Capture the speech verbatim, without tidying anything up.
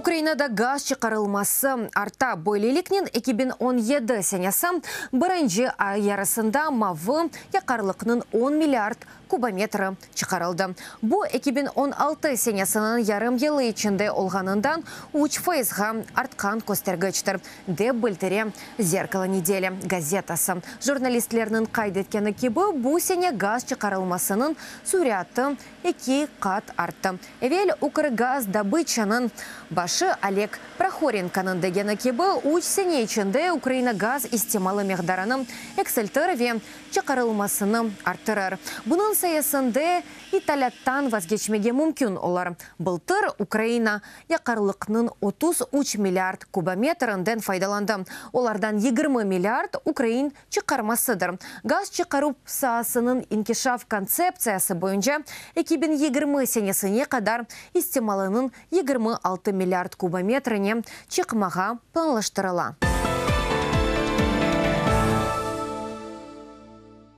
Ukrainada gaz çıqarılması arta. Böyleliknen, eki biñ on yedi senesi birinci ay yarısında mavı yaqarlıqnıñ on milliard kubometri çıqarıldı. Bu eki biñ on altı senesiniñ yarım yılı içinde olğanından üç fayızğa artqan köstergiçtir, dep bildire «Зеркало недели» gazetası. Jurnalistlerniñ qayd etkeni kibi, bu sene gaz çıqarılmasınıñ sureti eki qat arttı. Evel Ukrgazdobıçanıñ başı Oleg Prohorenkonıñ degeni kibi, üç sene içinde Ukraina gaz istimalı miqdarını eksiltir ve çıqarılmasını arttırır. Bunıñ sayesinde italâttan vazgeçmege mümkün olur. Bıltır Ukraina yaqarlıqnıñ otuz üç milliard kubometrinden faydalandı. Olardan yigirmi milliard ukrain çıqarmasıdır. Gaz çıqaruv saasınıñ inkişaf kontseptsiyası boyunca eki biñ yigirmi senesine qadar istimalınıñ yigirmi altı milliard kubometrine çıqmağa planlaştırıla.